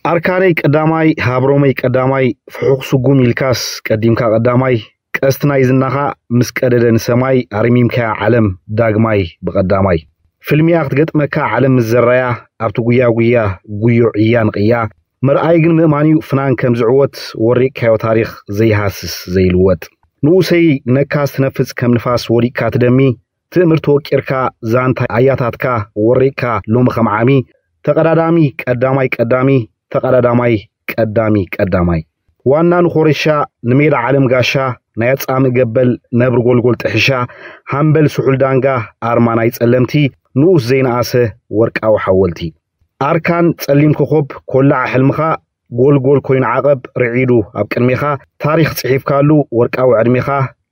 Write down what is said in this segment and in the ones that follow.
ኣርካነይ ቀዳማይ፣ ሃብሮመይ ቀዳማይ፣ ፍሑኽ ስጉም ኢልካስ ቀዲምካ ቀዳማይ፣ ቀስቲ ናይ ዝናኻ ምስ ቀደደ ንሰማይ፣ ኣርሚምካያ ዓለም ዳግማይ ብቐዳማይ። ፍልሚያ ክትገጥመካ ዓለም ምስ ዘራያ፣ ኣብቲ ጉያ ጉያ ጉዮ ዕያ ንቕያ፣ መርኣይ ግን ምእማን'ዩ ፍናን ከም ዝዕወት፣ ወሪቕካዮ ታሪኽ ዘይሃስስ ዘይልወጥ። ንኡሰይ ነካስ ትነፍጽ ከም ንፋስ ወዲቕካ ትደሚ፣ ትእምርቲ ወቂርካ ዛንታ ኣያታትካ ወሪቕካ ሎሚ ከም ዓሚ፣ ተቐዳዳሚ ቀዳማይ ቀዳሚ፣ ተቐዳዳማይ ቀዳሚ ቀዳማይ። ዋና ንኾረሻ ንሜዳ ዓለም ጋሻ፣ ናይ ኣጻምእ ገበል ነብሪ ጎልጎል ጥሕሻ፣ ሃምበል ስሑል ዳንጋ ኣርማ ናይ ጸለምቲ፣ ንኡስ ዘይነኣሰ ወርቃዊ ሓወልቲ። ኣርካን ጸሊም ኮኾብ ኮላዕ ሕልምኻ፣ ጎልጎል ኮይኑ ዓቐብ ርዒዱ ኣብ ቅድሜኻ፣ ታሪኽ ጽሒፍካሉ ወርቃዊ ዕድሜኻ፣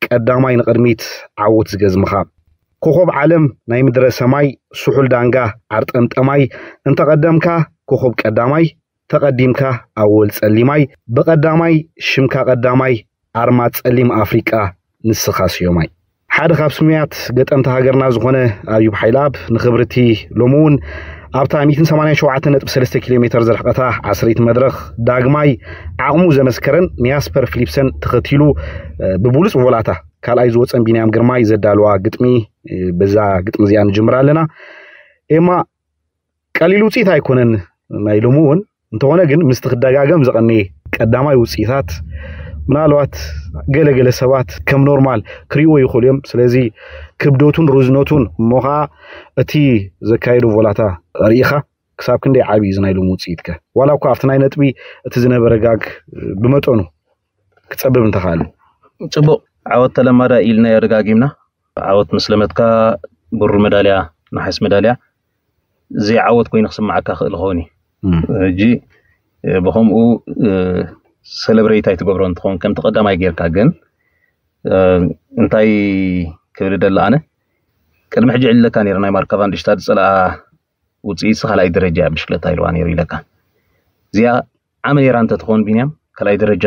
ቀዳማይ ንቕድሚት ዓወት ዝገዝምኻ። ኮኾብ ዓለም ናይ ምድረ ሰማይ፣ ስሑል ዳንጋ ዓርጠምጠማይ፣ እንተቐደምካ ኮኾብ ቀዳማይ፣ ተቐዲምካ ኣወል ጸሊማይ፣ ብቐዳማይ ሽምካ ቀዳማይ፣ ኣርማ ጸሊም ኣፍሪቃ ንስኻ ስዮማይ። ሓደ ካብ ስሙያት ገጠምቲ ሃገርና ዝኾነ ኣዩብ ሓይልኣብ ንኽብርቲ ሎሚ እውን ኣብታ ሚእትን ሰማንያን ሸውዓተን ነጥቢ ሰለስተ ኪሎ ሜተር ዝርሕቐታ ዓሰርይቲ መድረኽ ዳግማይ ዓቕሙ ዘመስከረን ንያስፐር ፊሊፕሰን ተኸቲሉ፣ እ፣ ብብሉጽ ቮላታ ካልኣይ ዝወጸን ቢንያም ግርማይ ዘዳለዋ ግጥሚ፣ እ፣ በዛ ግጥሚ እዚኣ ንጅምር ኣለና። ኤማ፣ ቀሊል ውጽኢት ኣይኮነን ናይ ሎሚ እውን። እንተኾነ ግን ምስቲ ክደጋገም ዝቐነየ ቀዳማይ ውጽኢታት ምናልባት ገለ ገለ ሰባት ከም ኖርማል ክርእይዎ ይኽእሉ እዮም። ስለዚ ክብደቱን ርዝነቱን እሞ ኸኣ እቲ ዘካየዶ ቮላታ ርኢኻ ክሳብ ክንደይ ዓቢ እዩ እዚ ናይ ሎሚ ውጽኢትከ? ዋላ እኳ ኣብቲ ናይ ነጥቢ እቲ ዝነበረ ጋግ ብመጠኑ ክጸብብ እንተኻእለ። ጽቡቕ ዓወት ተለማዳ ኢልናዮ ደጋጊምና። ዓወት ምስ ለመድካ ብሩር መዳልያ፣ ነሓስ መዳልያ ዘይዓወት ኮይኑ ክስምዓካ ክእል ይኸውን እዩ። እም። ሕጂ፣ እ፣ ብኸምኡ፣ እ፣ ሰለብሬት ኣይትገብሮ እንትኸውን ከምቲ ቀዳማይ ጌርካ ግን፣ እ፣ እንታይ ክብል ደለ ኣነ፣ ቅድሚ ሕጂ ዕሊለካ ነይረ ናይ ማርካ ቫንድሽታድ ዝጸልኣ ውጽኢት ካልኣይ ደረጃ እያ ብሽክለታ ኢልዋ ነይሩ ኢለካ። እዚኣ ዓመ ነይራ እንተትኸውን ቢንያም ካልኣይ ደረጃ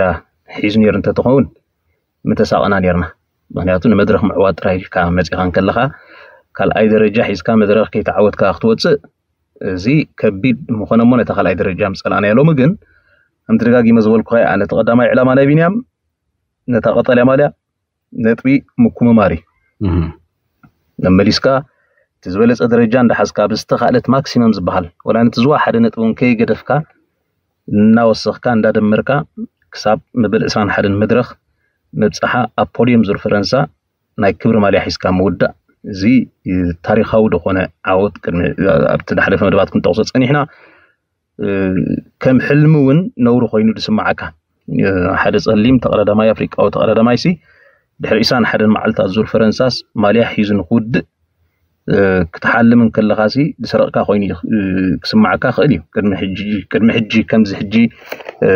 ሒዙ ነይሩ እንተትኸውን ምተሳቐና ነይርና። ምኽንያቱ ንመድረኽ ምዕዋት ጥራይ ኢልካ መጺኻ እንከለኻ ካልኣይ ደረጃ ሒዝካ መድረኽ ከይተዓወትካ ክትወጽእ እዚ ከቢድ ምኾነ እሞ ነታ ካልኣይ ደረጃ ምጸላእናያ። ሎሚ ግን ከምቲ ደጋጊመ ዝበልኩኻ እየ፣ ነቲ ቀዳማይ ዕላማ ናይ ቢንያም ነታ ቀጠልያ ማልያ ነጥቢ ምኩምማር እዩ። እህ። መመሊስካ እቲ ዝበለጸ ደረጃ እንዳሓዝካ ብዝተኻእለት ማክሲመም ዝበሃል ወላ ነቲ ዝዋ ሓደ ነጥቢ እውን ከይገደፍካ እናወሰኽካ እንዳደመርካ ክሳብ መበል ዕስራን ሓደን መድረኽ ምብጻሓ ኣብ ፖድየም ዙር ፈረንሳ ናይ ክብሪ ማልያ ሒዝካ ምውዳእ እዚ ታሪኻዊ ዝኾነ ዓወት ቅድሚ ኣብቲ ዝሓለፈ መደባት ክንጠቕሶ ጸኒሕና። እ፣ ከም ሕልሚ እውን ነውሪ ኮይኑ ዝስምዓካ። እ፣ ሓደ ጸሊም ተቐዳዳማይ ኣፍሪቃዊ ተቐዳዳማይሲ ድሕሪ ዕስራን ሓደን መዓልታት ዙር ፈረንሳስ ማልያ ሒዙ ንክውድእ፣ እ፣ ክትሓልም እንከለኻሲ ዝሰረቕካ ኮይኑ እዩ፣ እ፣ ክስምዓካ ክእል እዩ። ቅድሚ ሕጂ፣ ቅድሚ ሕጂ ከምዚ ሕጂ፣ እ፣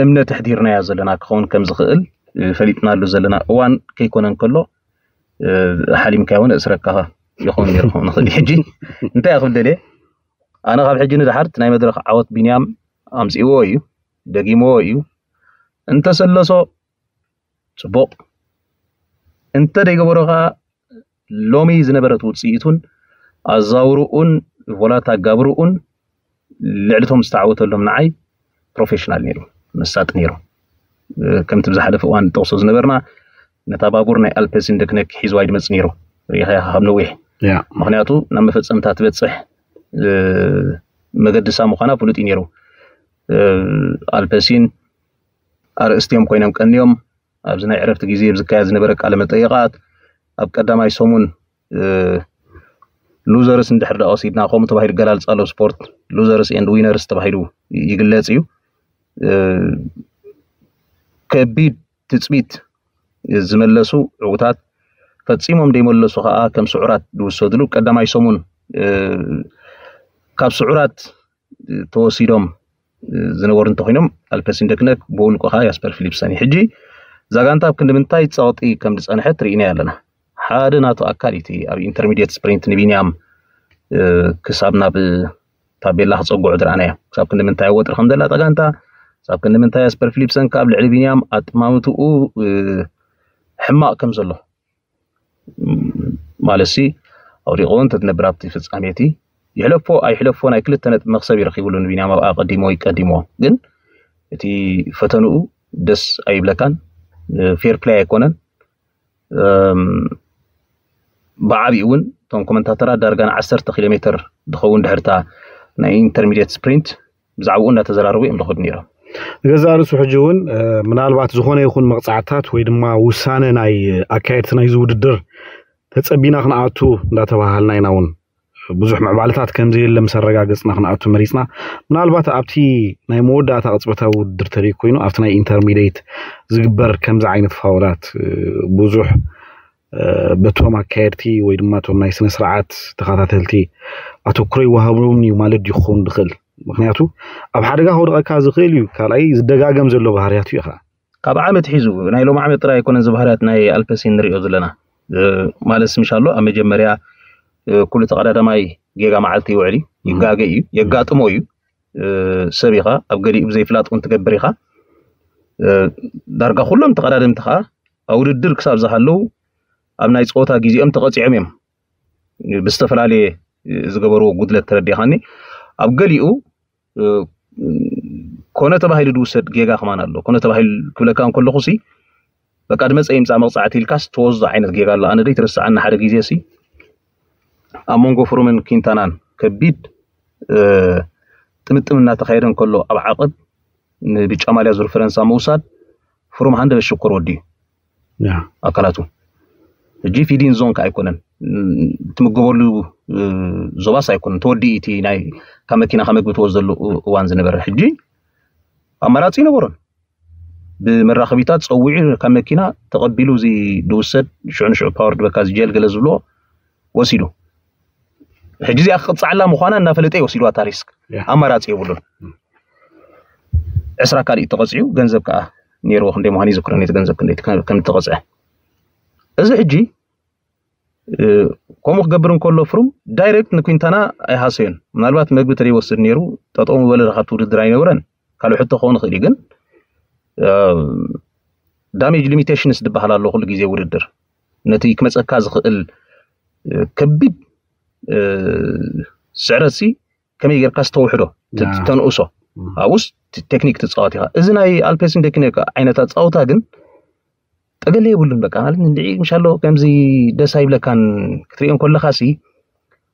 እምነት ኣሕዲርናያ ዘለና ክኸውን ከም ዝኽእል፣ እ፣ ፈሊጥናሉ ዘለና እዋን ከይኮነ እንከሎ፣ እ፣ ሓሊምካዮ እውን እእስረካ ይኸውን ነይሩ ክኸውን ይኽእል እዩ። ሕጂ እንታይ እየ ክብል ደልየ? ኣነ ካብ ሕጂ ንደሓር እቲ ናይ መድረኽ ዓወት ቢንያም ኣምጺእዎ እዩ፣ ደጊምዎ እዩ። እንተሰለሶ ጽቡቕ፣ እንተ ደይገበሮ ከኣ ሎሚ ዝነበረት ውጽኢቱን ኣዛውርኡን ቮላት ኣጋብርኡን ልዕሊ እቶም ዝተዓወተሎም ንዓይ ፕሮፌሽናል ነይሩ፣ መሳጢ ነይሩ። እ፣ ከምቲ ብዝሓለፈ እዋን ንጠቕሶ ዝነበርና ነታ ባቡር ናይ ኣልፐሲን ደክነክ ሒዝዋ ይድመጽ ነይሩ። ርኢኻያ ካብ ነዊሕ። ያ። ምኽንያቱ ናብ መፈጸምታ ትበጽሕ፣ እ፣ መገድሳ ምዃና ፍሉጥ እዩ ነይሩ። እ፣ ኣልፐሲን ኣርእስቲ እዮም ኮይኖም ቀንዮም። ኣብዚ ናይ ዕረፍቲ ግዜ ኣብ ዝካየድ ዝነበረ ቃለ መጠይቓት ኣብ ቀዳማይ ሰሙን፣ እ፣ ሉዘርስ እንድሕር ደኣ ወሲድና ከምኡ ተባሂሉ ገላልጻ ኣሎ ስፖርት ሉዘርስ ኤንድ ዊነርስ ተባሂሉ ይግለጽ እዩ። እ፣ ከቢድ ትጽቢት ዝመለሱ ዕዉታት ፈጺሞም ዘይመለሱ ከኣ ከም ስዑራት ዝውሰድሉ ቀዳማይ ሰሙን፣ እ፣ ካብ ስዑራት ተወሲዶም ዝነበሩ እንተኾይኖም ኣልፐሲን ደክነክ ብውልቁ ከኣ ያስፐር ፊሊፕሰን እዩ። ሕጂ እዛ ጋንታ ኣብ ክንዲ ምንታይ ጸቕጢ ከም ዝጸንሐት ርኢናዮ ኣለና። ሓደ ናቱ ኣካል እዩ እቲ ኣብ ኢንተርሚድየት ስፕሪንት ንቢንያም፣ እ፣ ክሳብ ናብ ታቤላ ክጸግዑ ዝረኣናዮ። ክሳብ ክንዲ ምንታይ ወጥሪ ከም ዘላ እታ ጋንታ፣ ክሳብ ክንዲ ምንታይ ያስፐር ፊሊፕሰን ከኣ ኣብ ልዕሊ ቢንያም ኣጠማምትኡ፣ እ፣ ሕማቕ ከም ዘሎ። ማለትሲ ኣውዲቕዎ እንተትነብር ኣብቲ ፍጻሜ እቲ ይሕለፎ ኣይሕለፎ ናይ ክልተ ነጥቢ መክሰብ ይረኪብሉ ንቢንያም ኣብኣ ቀዲሞ ይቀዲሞ። ግን እቲ ፈተንኡ ደስ ኣይብለካን፣ ፌር ፕላይ ኣይኮነን። ብዓብኡ እውን እቶም ኮመንታተራት ዳርጋ ን ዓሰርተ ኪሎ ሜትር ዝኸውን ድሕርታ ናይ ኢንተርሚዲየት ስፕሪንት ብዛዕባኡ እንዳተዘራረቡ እዮም ዝኸዱ ነይሮም። ገዛ ርእሱ ሕጂ እውን ምናልባት ዝኾነ ይኹን መቕፃዕታት ወይ ድማ ውሳነ ናይ ኣካየድቲ ናይዚ ውድድር ተፀቢና ክንኣቱ እንዳተባሃልና ኢና እውን ብዙሕ ምዕባለታት ከም ዘየለ ምስ ኣረጋገፅና ክንኣቱ መሪፅና። ምናልባት ኣብቲ ናይ መወዳእታ ቅፅበታዊ ውድድር ተደይ ኮይኑ ኣብቲ ናይ ኢንተርሚዲየት ዝግበር ከምዚ ዓይነት ፋውላት ብዙሕ በቶም ኣካየድቲ ወይ ድማ እቶም ናይ ስነ ስርዓት ተኸታተልቲ ኣተኩሮ ይወሃቦም እዩ ማለት ድዩ ክኸውን ዝኽእል? ምክንያቱ ኣብ ሓደጋ ከውድቐካ ዝኽእል እዩ። ካልኣይ ዝደጋገም ዘሎ ባህርያት እዩ። ካብ ዓመት ሒዙ ናይ ሎም ዓመት ጥራይ ኣይኮነን ዝባህርያት ናይ ኣልፐሲን ንሪኦ ዘለና። ማለት ምሻሎ ኣብ መጀመርያ ኩሉ ተቐዳዳማይ ጌጋ መዓልቲ ይውዕል እዩ፣ ይጋገ እዩ፣ የጋጥሞ እዩ። ሰብ ኢኻ ኣብ ገሊኡ ብዘይፍላጥ እውን ትገብር ኢኻ። ዳርጋ ኩሎም ተቐዳደምቲ ከዓ ኣብ ውድድር ክሳብ ዝሃለዉ ኣብ ናይ ፀወታ ግዜኦም ተቐፂዖም እዮም ብዝተፈላለየ ዝገበርዎ ጉድለት ተረዲኻኒ። ኣብ ገሊኡ ኮነ ተባሂሉ ዝውሰድ ጌጋ ከማን ኣሎ። ኮነ ተባሂሉ ክብለካ እንከለኹ ሲ በቃ ድመፀ ይምፃእ መቕፃዕቲ ኢልካስ ትወስዶ ዓይነት ጌጋ ኣሎ። ኣነ ደይ ትርስዓና ሓደ ግዜ ሲ ኣብ መንጎ ፍሩምን ኪንታናን ከቢድ ጥምጥም እናተኻየደ እንከሎ ኣብ ዓቐብ ንብጫ ማልያ ዙር ፈረንሳ ምውሳድ ፍሩም ሃንደበት ሽኮር ወዲዩ ኣካላቱ ሕጂ ፊዲን ዞን ከ ኣይኮነን ትምገበሉ ዞባስ ኣይኮነን ተወዲኡ እቲ ናይ ካብ መኪና ካብ መግቢ ትወስደሉ እዋን ዝነበረ ሕጂ ኣማራፂ ይነበሮን ብመራኸቢታት ፀዊዑ ካብ መኪና ተቐቢሉ እዚ ድውሰድ ሽዑ ንሽዑ ፓወር ድበካ እዚ ጀል ገለ ዝብሎ ወሲዱ ሕጂ እዚኣ ክቕፅዓላ ምዃና እናፈለጠ ይወሲድዋ ታሪስክ ኣማራፂ የብሉን ዕስራ ካልእ ተቐፂዑ ገንዘብ ከዓ ነይርዎ ክንደይ ምዃኑ ይዝክረኒ እቲ ገንዘብ ክንደይ ከም ተቐፅዐ እዚ ሕጂ ከምኡ ክገብር እንከሎ ፍሩም ዳይሬክት ንኩንታና ኣይሃሰዮን ምናልባት መግቢ ተደይወስድ ነይሩ ጠጠው ምበለ ካብቲ ውድድር ኣይነብረን ካልእ ሕቶ ክኸውን ይኽእል እዩ ግን ዳሜጅ ሊሚቴሽንስ ዝበሃል ኣሎ ኩሉ ግዜ ውድድር ነቲ ክመፀካ ዝኽእል ከቢድ ስዕረት ሲ ከመይ ጌርካ ዝተውሕዶ ተንእሶ ኣብኡስ ቴክኒክ ትፃወት ኢኻ እዚ ናይ ኣልፔሲን ቴክኒክ ዓይነት ኣፃውታ ግን ጠገለ የብሉን በቃ ማለት እንድዒ ምሻሎ ከምዚ ደስ ኣይብለካን ክትሪኦ ከለካ ሲ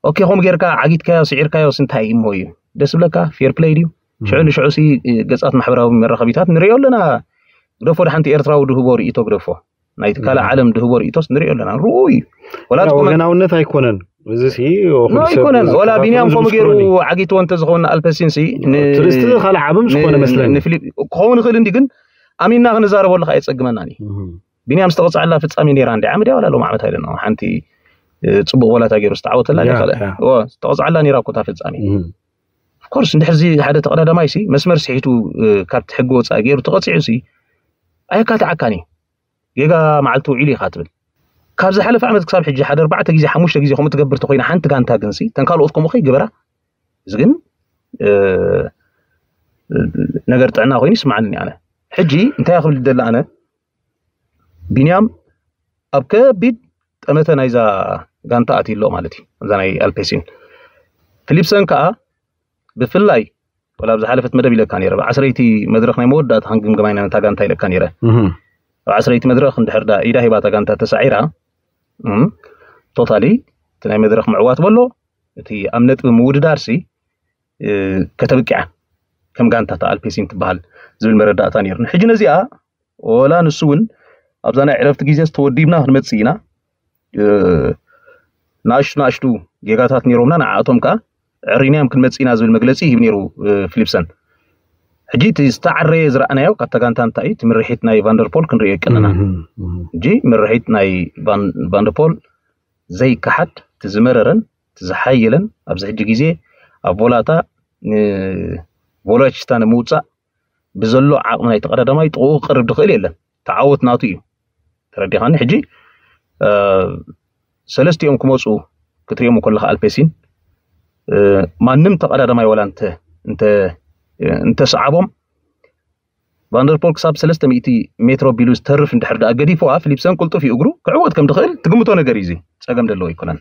ኦኬ ከምኡ ጌርካ ዓጊትካዮ ስዒርካዮስ እንታይ እሞ እዩ ደስ ብለካ ፌር ፕለይ ድዩ ሽዑ ንሽዑ ሲ ገፃት ማሕበራዊ መራኸቢታት ንሪኦ ኣለና ግደፎ ድሓንቲ ኤርትራዊ ድህቦ ርእይቶ ግደፎ ናይቲ ካልእ ዓለም ድህቦ ርእይቶስ ንሪኦ ኣለና ርኡ እዩ ወላ ያው ትኮመ- ወገናውነት ኣይኮነን እዚ ሲ ኖ ኣይኮነን ወላ ቢንያም ከምኡ ገይሩ ዓጊትዎ እንተዝኸውን ኣልፐሲን ሲ ን- ትርስቲ ካልእ ዓብም ዝኾነ ን- መስለኒ ንፊሊፕ ክኸውን ይኽእል እንዲ ግን ኣሚንና ክንዛረበሉ ከዓ የፀግመና ኒ ቢንያም ዝተቐፅዐላ ፍፃሜ ነይራ እንዲ ዓመት ያው ላሎም ዓመት ኣይደና ሓንቲ ፅቡቅ ወላታ ገይሩ ዝተዓወተላ ያ፣ ካልእ ያ። እዎ፣ ዝተቐፅዐላ ነይራ እኮ እታ ፍፃሜ Mhm. ኦፍኮርስ እንድሕር እዚ ሓደ ተቐዳዳማይ ሲ መስመር ስሒቱ እ፣ ካብቲ ሕጊ ወፃኢ ገይሩ ተቐፂዑ ሲ ኣየካትዓካን እዩ ጌጋ መዓልቲ ውዒሉ ኢኻ ትብል ካብ ዝሓለፈ ዓመት ክሳብ ሕጂ ሓደ ኣርባዕተ ግዜ ሓሙሽተ ግዜ ከምኡ ትገብር ተኮይና ሓንቲ ጋንታ ግን ሲ ተን ካልኦት ከምኡ ከይገበራ እዚ ግን እ፣ ነገር ጥዕና ኮይኑ ይስማዓኒ ኣነ ሕጂ እንታይ ክብል ደለ ኣነ ቢንያም ኣብ ከቢድ ጠመተ ናይዛ ጋንታ ኣትዩ ኣሎ ማለት እዩ እዛ ናይ ኣልፔሲን ፊሊፕሰን ከዓ ብፍላይ ወላ ኣብ ዝሓለፈት መደብ ኢለካ ነይረ ብዓስረይቲ መድረክ ናይ መወዳእታ ክንግምገማ ኢና ነታ ጋንታ ኢለካ ነይረ Mhm. ኣብ ዓስረይቲ መድረክ እንድሕር ዳ ኢዳ ሂባታ ጋንታ ተሳዒራ ቶታሊ እቲ ናይ መድረክ ምዕዋት በሎ እቲ ኣብ ነጥቢ ምውድዳር ሲ ከተብቅዓ ከም ጋንታ ተኣልፔሲን ትበሃል ዝብል መረዳእታ ነይሩኒ ሕጂ ነዚኣ ወላ ንሱ እውን ኣብዛ ናይ ዕረፍቲ ግዜ ዝተወዲብና ክንመፅእ ኢና ናእሽቱ ናእሽቱ ጌጋታት ነይሮምና ንዓኣቶም ከዓ ዕሪናዮም ክንመፅእ ኢና ዝብል መግለፂ ይህብ ነይሩ ፊሊፕሰን ሕጂ እቲ ዝተዓረየ ዝረኣናዮ ካብታ ጋንታ እንታይ እዩ እቲ ምርሒት ናይ ቫንደርፖል ክንሪኦ ይቀነና ሕጂ ምርሒት ናይ ቫንደርፖል ዘይከሓድ እቲ ዝመረረን እቲ ዝሓየለን ኣብዚ ሕጂ ግዜ ኣብ ቮላታ ንቮሎችታ ንምውፃእ ብዘሎ ዓቕሚ ናይ ተቐዳዳማይ ጥቕኡ ክቐርብ ዝኽእል የለን ተዓወት ናቱ እዩ ተረዲኻኒ ሕጂ ሰለስቲኦም ክመፁ ክትሪኦም ከለካ ኣልፔሲን ማንም ተቐዳዳማይ ዋላ እንተሰዓቦም ቫንደርፖል ክሳብ ሰለስተ ሚእቲ ሜትሮ ቢሉ ዝተርፍ እንድሕር ደኣ ገዲፍዋ ፊሊፕሰን ቅልጡፍ እዩ እግሩ ክዕወት ከም ድኽእል ትግምቶ ነገር እዩ እዚ ጸገም ዘለዎ ኣይኮነን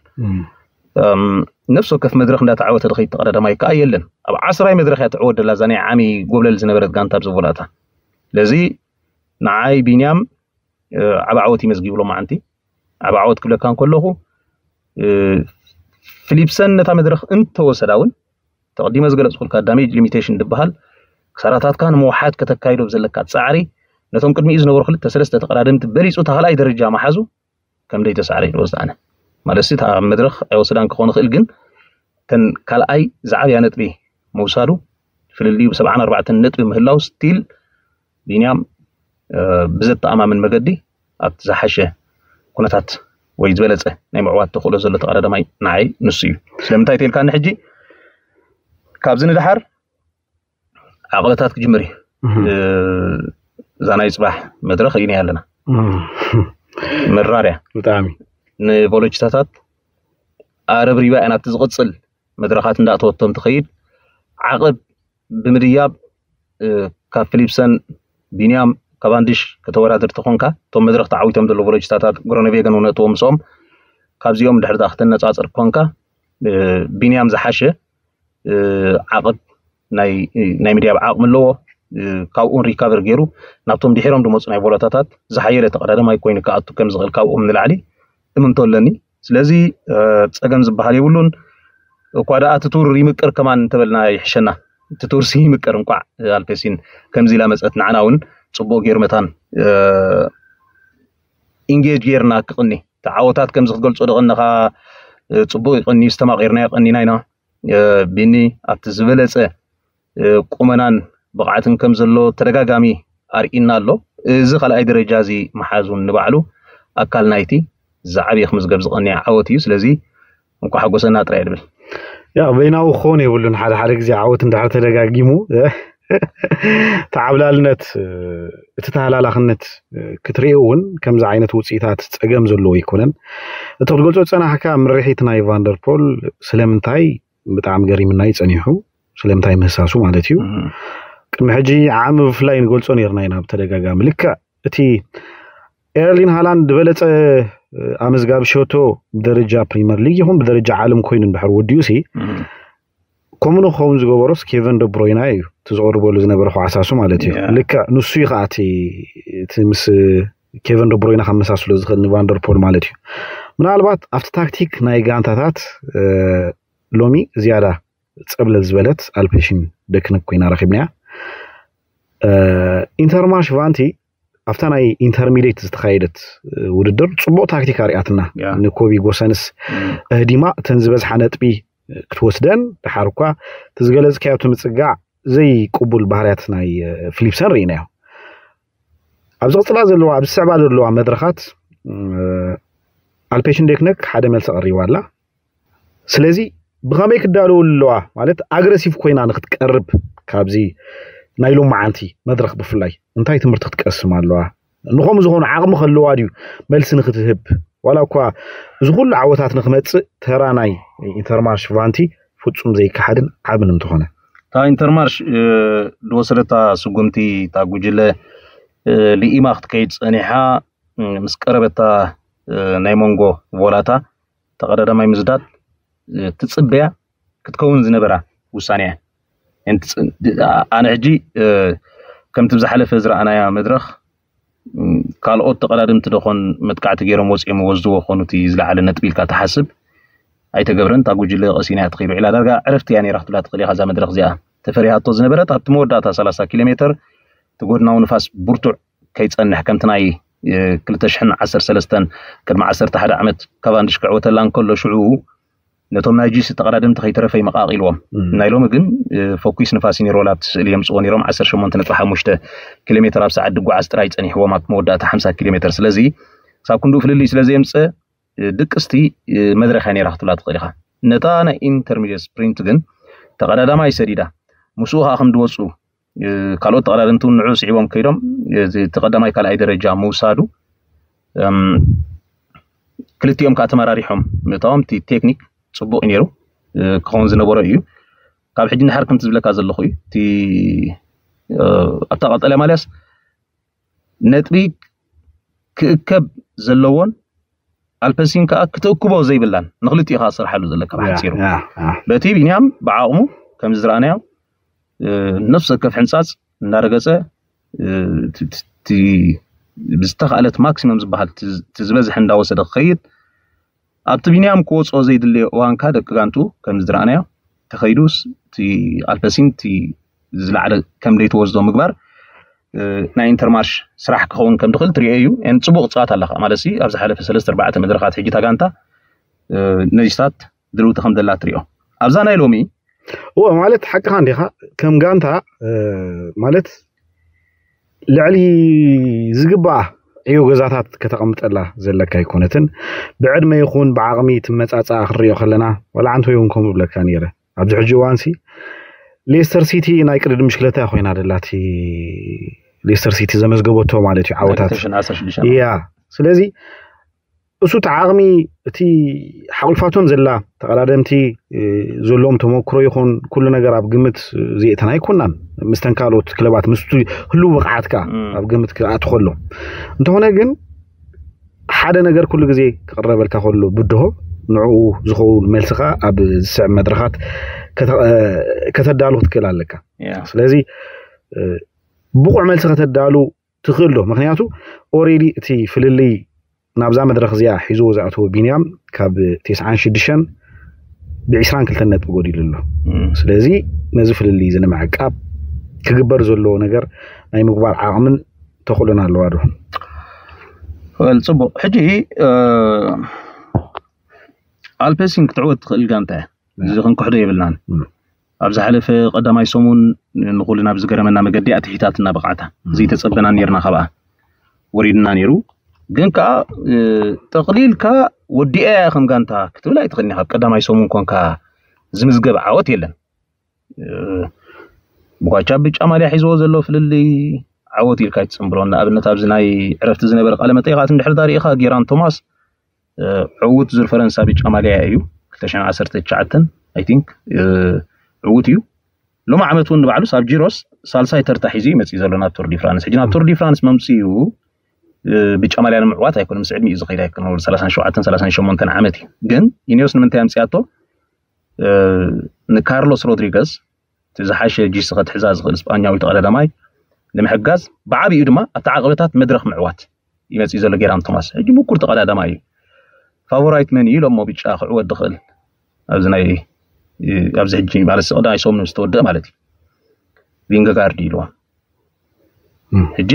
ነፍሲ ወከፍ መድረኽ እንዳተዓወተ ድኸይድ ተቐዳዳማይ ከዓ የለን። ኣብ ዓስራይ መድረኽ እያ ትዕወት ደላ እዛ ናይ ዓሚ ጎብለል ዝነበረት ጋንታ ኣብዚ ቦላታ። ስለዚ ንዓይ ቢንያም ዓብ ዓወት ይመዝጊብሎ መዓንቲ። ዓብ ዓወት ክብለካ እንከለኹ፣ ፊሊፕሰን ነታ መድረኽ እንተወሰዳ እውን፣ ተቐዲመ ዝገለፅኩልካ ዳሜጅ ሊሚቴሽን ዝበሃል ክሳራታትካ ንምውሓድ ከተካይዶ ብዘለካ ፃዕሪ፣ ነቶም ቅድሚኡ ዝነበሩ ክልተ ሰለስተ ተቐዳደምቲ በሊፁ እታ ካልኣይ ደረጃ መሓዙ ከም ደይተሳዕረ እዩ ዝወስድ ኣነ። ማለት እታ መድረኽ ኣይወሰዳን ክኾን ይኽእል፣ ግን ተን ካልኣይ ዝዓብያ ነጥቢ ምውሳዱ፣ ፍልልዩ ብ74 ነጥቢ ምህላው ስቲል ቢንያም ብዘተኣማምን መገዲ ኣብቲ ዝሓሸ ኩነታት ወይ ዝበለፀ ናይ ምዕዋት ተኽእሎ ዘሎ ተቐዳዳማይ ንዓይ ንሱ እዩ። ስለምንታይ ተልካኒ ሕጂ ካብዚ ንድሓር ዓቕለታት ክጅምር እዩ። እዛ ናይ ፅባሕ መድረኽ ርኢና ኣለና። መራርያ ብጣዕሚ ንቮሎችታታት ኣረብሪባ እያ ናብቲ ዝቕፅል መድረኻት እንዳእተወቶም ትኸይድ። ዓቕብ ብምድያብ ካብ ፊሊፕሰን፣ ቢንያም፣ ካቫንዲሽ ከተወዳድር ተኾንካ፣ እቶም መድረኽ ተዓዊቶም ዘለዉ ቮሎችታታት ግሮነቬገን እውን እትዎም ምስኦም፣ ካብዚኦም ድሕሪ ዳ ክተነፃፅር ኮንካ ቢንያም ዝሓሸ ዓቕብ ናይ ናይ ምድያብ ዓቕሚ ኣለዎ። ካብኡን ሪካቨር ገይሩ ናብቶም ድሒሮም ዝመፁ ናይ ቮሎታታት ዝሓየለ ተቐዳዳማይ ኮይኑ ክኣቱ ከም ዝኽእል ካብኦም ንላዕሊ እምንቶ ኣለኒ። ስለዚ ፀገም ዝበሃል የብሉን። እኳ ደኣ እቲ ቱር ይምቅር ከማን እንተበልና ይሕሸና። እቲ ቱርሲ ይምቅር፣ እንኳዕ ኣልፔሲን ከምዚ ኢላ መፀት፣ ንዓና እውን ፅቡቅ ገይሩ መታን ኢንጌጅ ገይርና ክቕኒ ተዓወታት ከምዚ ክትገልፆ ደቐነኻ ፅቡቅ ይቐኒ ዝተማቂርና ይቐኒና ኢና። ቢኒ ኣብቲ ዝበለፀ ቁመናን ብቕዓትን ከም ዘሎ ተደጋጋሚ ኣርኢና ኣሎ። እዚ ካልኣይ ደረጃ እዚ መሓዙን ንባዕሉ ኣካል ናይቲ ዝዓብየ ክምዝገብ ዝቐንየ ዓወት እዩ። ስለዚ እንኳ ሓጎሰና ጥራይ ድብል። ያ በይናዊ ክኸውን የብሉን። ሓደ ሓደ ግዜ ዓወት እንድሕር ተደጋጊሙ ተዓብላልነት፣ እቲ ተሃላላኽነት ክትሪኦ እውን ከምዚ ዓይነት ውፅኢታት ፀገም ዘለዎ ኣይኮነን። እቲ ክትገልፆ ዝፀናሕካ ምርሒት ናይ ቫንደርፖል ስለምንታይ ብጣዕሚ ገሪምና እዩ ፀኒሑ። ስለምንታይ ምህሳሱ ማለት እዩ። ቅድሚ ሕጂ ዓሚ ብፍላይ ንገልፆ ነርና ኢና ብተደጋጋሚ። ልክዕ እቲ ኤርሊን ሃላንድ ዝበለፀ ኣመዝጋቢ ሸቶ ብደረጃ ፕሪመር ሊግ ይኹን ብደረጃ ዓለም ኮይኑ እንድሕር ወዲኡ ሲ ከምኡ ንክኸውን ዝገበሮስ ኬቨን ደብሮይና እዩ፣ እቲ ዝቐርበሉ ዝነበረ ክዓሳሱ ማለት እዩ። ልክዕ ንሱ እዩ ከዓ እቲ ምስ ኬቨን ደብሮይና ከመሳስሎ ዝኽእል ንቫንደርፖል ማለት እዩ። ምናልባት ኣብቲ ታክቲክ ናይ ጋንታታት ሎሚ ዝያዳ ፀብለል ዝበለት ኣልፔሽን ደክነክ ኮይና ረኪብናያ። ኢንተርማርሽ ቫንቲ ኣብታ ናይ ኢንተርሚዲየት ዝተኻየደት ውድድር ፅቡቅ ታክቲክ ኣርያትና። ንኮቢ ጎሰንስ እህዲማ እተን ዝበዝሓ ነጥቢ ክትወስደን፣ ድሓር እኳ እቲ ዝገለፅካዮ እቲ ምፅጋዕ ዘይቅቡል ባህርያት ናይ ፊሊፕሰን ርኢናዮ። ኣብ ዝቕፅላ ዘለዋ፣ ኣብ ዝስዕባ ዘለዋ መድረኻት ኣልፔሽን ደክነክ ሓደ መልሲ ቀሪባ ኣላ። ስለዚ ብኸመይ ክዳለዉ ኣለዋ ማለት ኣግረሲቭ ኮይና ንክትቀርብ ካብዚ ናይ ሎማዓንቲ መድረኽ ብፍላይ እንታይ ትምህርቲ ክትቀስም ኣለዋ? ንኸምኡ ዝኾኑ ዓቕሚ ከለዋ ድዩ መልሲ ንክትህብ? ዋላ እኳ እዚ ኩሉ ዓወታት ንክመፅእ ተራ ናይ ኢንተርማርሽ ቫንቲ ፍፁም ዘይከሓድን ዓብን እንተኾነ። እታ ኢንተርማርሽ ዝወሰደታ ስጉምቲ እታ ጉጅለ ልኢማ ክትከይድ ፀኒሓ ምስ ቀረበታ ናይ መንጎ ቮላታ ተቐዳዳማይ ምዝዳድ ትፅበያ ክትከውን ዝነበራ ውሳኔ እያ። ኣነ ሕጂ ከምቲ ብዝሓለፈ ዝረኣናያ መድረኽ ካልኦት ተቐዳድምቲ ደኾን መጥቃዕቲ ገይሮም ወፂኦም ወስድዎ ኾኑ እቲ ዝለዓለ ነጥቢ ኢልካ ትሓስብ ኣይተገብረን። እታ ጉጅለ ቀሲና እያ ትኸይድ። ውዒላ ዳርጋ ዕረፍቲ እያ ነይራ ክትብላ ትኽእል ኢኻ። እዛ መድረኽ እዚኣ ተፈሪሃቶ ዝነበረት ኣብቲ መወዳእታ 30 ኪሎ ሜተር እቲ ጎድናዊ ንፋስ ብርቱዕ ከይፀንሕ ከምቲ ናይ ክልተ ሽሕን ዓሰርተ ሰለስተን ቅድሚ ዓሰርተ ሓደ ዓመት ካቫንድሽ ክዕወተላ እንከሎ ሽዑ ነቶም ናይ ጂሲ ተቐዳደምቲ ከይተረፈ ይመቃቂልዎም። ናይ ሎሚ ግን ፎኪስ ንፋስ እዩ ነይሩ። ዋላ ኣብቲ ስእሊ የምፅዎ ነይሮም ዓሰርተ ሸሞንተ ነጥቢ ሓሙሽተ ኪሎ ሜትር ኣብ ሰዓት ድጓዓዝ ጥራይ ፀኒሕዎም ኣብቲ መወዳእታ ሓምሳ ኪሎ ሜትር። ስለዚ ሳብ ክንድኡ ፍልልይ ስለ ዘየምፀ ድቅስቲ መድረኽ እያ ነይራ ክትብላ ትኽእል ኢኻ። ነታ ናይ ኢንተርሚዲየት ስፕሪንት ግን ተቐዳዳማይ ሰዲዳ ምስኡ ከዓ ከም ድወፁ ካልኦት ተቐዳደምቲ እውን ንዑ ስዒቦም ከይዶም እቲ ቀዳማይ ካልኣይ ደረጃ ምውሳዱ ክልቲኦም ከዓ ተመራሪሖም ምእታዎም እቲ ቴክኒክ ፅቡቅ እዩ ነይሩ ክኸውን ዝነበሮ እዩ። ካብ ሕጂ ንድሓር ከምቲ ዝብለካ ዘለኹ እዩ እቲ ኣብታ ቀጠልያ ማልያስ ነጥቢ ክእከብ ዘለዎን ኣልፐሲን ከዓ ክትእክቦ ዘይብላን ንክልቲኡ ከዓ ዝሰርሓሉ ዘለካ ብሓፂሩ። ያ፣ ያ። በቲ ቢንያም ብዓቕሙ ከምዚ ዝረኣናዮ፣ እ፣ ነፍሲ ወከፍ ሕንፃፅ እናረገፀ፣ እ፣ ቲ- ቲ- ቲ- ብዝተኻእለት ማክሲመም ዝበሃል ቲ- ቲ ዝበዝሐ እንዳወሰደ ክኸይድ፣ ኣብቲ ቢንያም ክወፅኦ ዘይድለዮ እዋንካ ደቂ ጋንቱ ከምዚ ዝረኣናዮ ተኸይዱስ፣ እቲ ኣልፐሲን እቲ ዝለዓለ ከም ደይተወስዶ ምግባር፣ እ፣ ናይ ኢንተርማሽ ስራሕ ክኸውን ከም ድኽእል ትሪኦ እዩ። ን ፅቡቅ ፅዋት ኣለካ ማለት ሲ፣ ኣብ ዝሓለፈ ሰለስተ ኣርባዕተ መድረኻት ሕጂ እታ ጋንታ፣ እ፣ ነዚታት ድልውቲ ከም ዘላ ትሪኦ ኣብዛ ናይ ሎሚ። እወ፣ ማለት ሓቅኻ እንዲኻ። ከም ጋንታ፣ እ፣ ማለት ልዕሊ ዝግባኣ ዕዮ ገዛታት ከተቐምጠላ ዘለካ ኣይኮነትን። ብዕድመ ይኹን ብዓቕሚ ትመጻጻ ክንሪኦ ከለና፣ ዋላ ዓንቶ ይኹን ከምኡ ብለካ ነይረ። ኣብዚ ሕጂ እዋንሲ ሌስተር ሲቲ ናይ ቅድድም ብሽክለታ ኮይና ደላ፣ እቲ ሌስተር ሲቲ ዘመዝገበቶ ማለት እዩ ዓወታት። ክልተ ሽሕን ዓሰርተ ሽዱሽተ። ያ፣ ስለዚ እሱ እቲ ዓቕሚ፣ እቲ ሓቑልፋቶም ዘላ ተቐዳደምቲ፣ እ፣ ዘለዎም ተመክሮ ይኹን ኩሉ ነገር ኣብ ግምት ዘእተና ኣይኮናን። ምስተን ካልኦት ክለባት ምስቲ ህልው ብቕዓትካ እም። ኣብ ግምት ክኣቱ ከሎ፣ እንተኾነ ግን ሓደ ነገር ኩሉ ግዜ ክቕረበልካ ከሎ ብድሆ ንዕኡ ዝኸውን መልስኻ ኣብ ዝስዕብ መድረኻት ከተ- እ፣ ከተዳሉ ክትክእል ኣለካ። ያ። ስለዚ፣ እ፣ ብቑዕ መልሲ ከተዳሉ ትኽእል ዶ? ምክንያቱ ኦሬዲ እቲ ፍልልይ ናብዛ መድረኽ እዚኣ ሒዝዎ ዝኣተወ ቢንያም ካብ ተስዓን ሽዱሽተን ብዒስራን ክልተን ነጥቢ ጎዲሉ ኣሎ። እም። ስለዚ ነዚ ፍልልይ እዚ ንምዕቃብ ክግበር ዘለዎ ነገር ናይ ምግባር ዓቕምን ተኽእሎን ኣለዋ ዶ? ወል ፅቡቅ። ሕጂ፣ እ፣ ኣልፔሲን ክትዕወት ትኽእል ጋንታ እያ። እዚ ክንክሕዶ የብልናን። እም። ኣብ ዝሓለፈ ቀዳማይ ሰሙን ንኹልና ብዝገረመና መገዲ ኣትሒታትና ብቕዓታ። ዘይተጸበና ነርና ካብኣ። ወሪድና ነይሩ። ግን ከኣ፣ እ፣ ጠቕሊልካ ወዲኣ እያ ከም ጋንታ ክትብል ኣይትኽእልን ኢኻ። ኣብ ቀዳማይ ሰሙን ኮንካ ዝምዝገብ ዓወት የለን። እ፣ ብኳቻ ብጫ ማልያ ሒዝዎ ዘሎ ፍልልይ ዓወት ኢልካ ኣይትጽንብሮን። ንኣብነት ኣብዚ ናይ ዕረፍቲ ዝነበረ ቃለ መጠይቓት እንድሕር ዳርኢኻ ጌራን ቶማስ፣ እ፣ ዕዉት ዙር ፈረንሳ ብጫ ማልያ እዩ። ክልተ ሽሕን ዓሰርተ ትሽዓተን፣ I think፣ እ፣ ዕዉት እዩ። ሎሚ ዓመት እውን ንባዕሉስ ኣብ ጂሮስ ሳልሳይ ተርታ ሒዙ እዩ መፂኡ ዘሎ ናብ ቱር ዲ ፍራንስ። ሕጂ ናብ ቱር ዲ ፍራንስ መምፅኡ፣ እ፣ ብጫ ማልያ ንምዕዋት ኣይኮነ፣ ምስ ዕድሚኡ ዝኸይድ ኣይኮነ። ወዲ ሰላሳን ሸውዓተን ሰላሳን ሸሞንተን ዓመት እዩ። ግን ኢኒዮስ ንምንታይ ኣምፅኣቶ? እ፣ ንካርሎስ ሮድሪገዝ፣ እቲ ዝሓሸ ጂሲ ከትሕዛ ዝኽእል ስጳኛዊ ተቐዳዳማይ ንምሕጋዝ፣ ብዓቢኡ ድማ ኣብቲ ዓቐበታት መድረኽ ምዕዋት ይመፅእ ዘሎ ጌራን ቶማስ። ሕጂ ምኩር ተቐዳዳማይ እዩ። ፋቮራይት መን እዩ ኢሎሞ ብጫ ክዕወት ድኽእል? ኣብዚ ናይ፣ ኣብዚ ሕጂ ማለት ቀዳማይ ሰሙን ዝተወደአ ማለት እዩ። ቪንገጋርድ ኢልዋ። እም። ሕጂ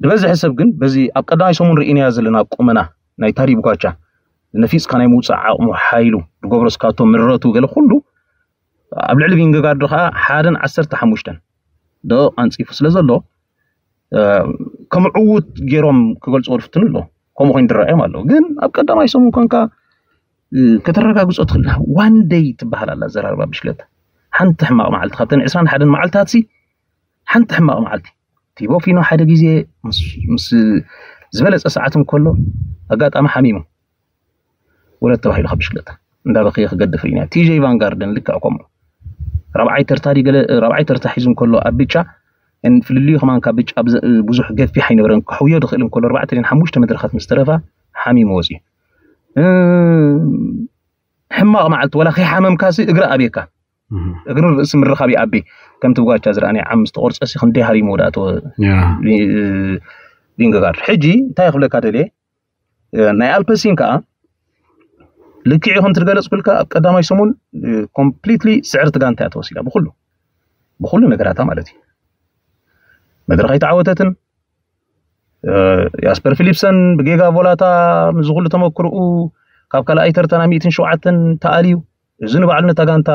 ዝበዝሐ ሰብ ግን በዚ ኣብ ቀዳማይ ሰሙን ርኢናያ ዘለና ቁመና ናይ ታዲ ብኳቻ፣ ነፊፅካ ናይ ምውፃእ ዓቕሙ፣ ሓይሉ፣ ዝገብሮ ስካቶ፣ ምረቱ፣ ገለ ኩሉ ኣብ ልዕሊ ቪንገጋርድ ከዓ ሓደን ዓሰርተ ሓሙሽተን ደቂቕ ኣንፂፉ ስለ ዘሎ፣ እ፣ ከም ዕዉት ገይሮም ክገልፅዎ ዝፍትኑ ኣለዉ። ከምኡ ኮይኑ ዝረኣዮም ኣለዉ። ግን ኣብ ቀዳማይ ሰሙን ኮንካ፣ እ፣ ከተረጋግፆ ትኽእል። ዋን ደይ ትበሃል ኣላ ኣዘራርባ ብሽክለታ። ሓንቲ ሕማቕ መዓልቲ፣ ካብተን ዕስራን ሓደን መዓልትታት ሲ ሓንቲ ሕማቕ መዓልቲ። ቲቦ ፊኖ ሓደ ግዜ ምስ፣ ምስ ዝበለፀ ሰዓት እንከሎ ኣጋጣሚ ሓሚሙ። ውረድ ተባሂሉ ካብ ብሽክለታ እንዳበኸየ ክገድፍ ርኢና። ቲጀይ ቫንጋርደን ልክዕ ከምኡ። ራብዓይ ተርታ ድዩ ገለ፣ ራብዓይ ተርታ ሒዙ እንከሎ ኣብ ብጫ፣ እን ፍልልዩ ከማን ካብ ብጫ ብዘ-፣ ብዙሕ ገፊሕ ኣይነበረን። ክሕውዮ ድኽእል እንከሎ ኣርባዕተ ድን ሓሙሽተ መድረኻት ምስ ተረፋ ሓሚሙ ወፂኡ። እ፣ ሕማቕ መዓልቲ፣ ወላ ከይሓመምካሲ እግሪ ኣብየካ። እህ። እግርን ርእሲ ምርኻብ ይኣቢ። ከምቲ ብጓቻ ዝረኣናዮ ዓም ዝተቆርጸሲ ክንደይ ሃሪሙ ወዳእተወ ያ። ቪንገጋርድ። ሕጂ እንታይ ክብለካ ደልየ፣ እ፣ ናይ ኣልፐሲን ከዓ ልክዕ እዩ ከምቲ ዝገለጽኩልካ ኣብ ቀዳማይ ሰሙን፣ እ፣ ኮምፕሊትሊ ስዕርቲ ጋንታ እያ ተወሲዳ ብኩሉ፣ ብኩሉ ነገራታ ማለት እዩ። መድረኽ ኣይተዓወተትን። እ፣ ያስፐር ፊሊፕሰን ብጌጋ ቮላታ ምስዚ ኩሉ ተመክርኡ ካብ ካልኣይ ተርታ ናብ ሚእትን ሸውዓተን ተኣልዩ። እዚ ንባዕሉ ነታ ጋንታ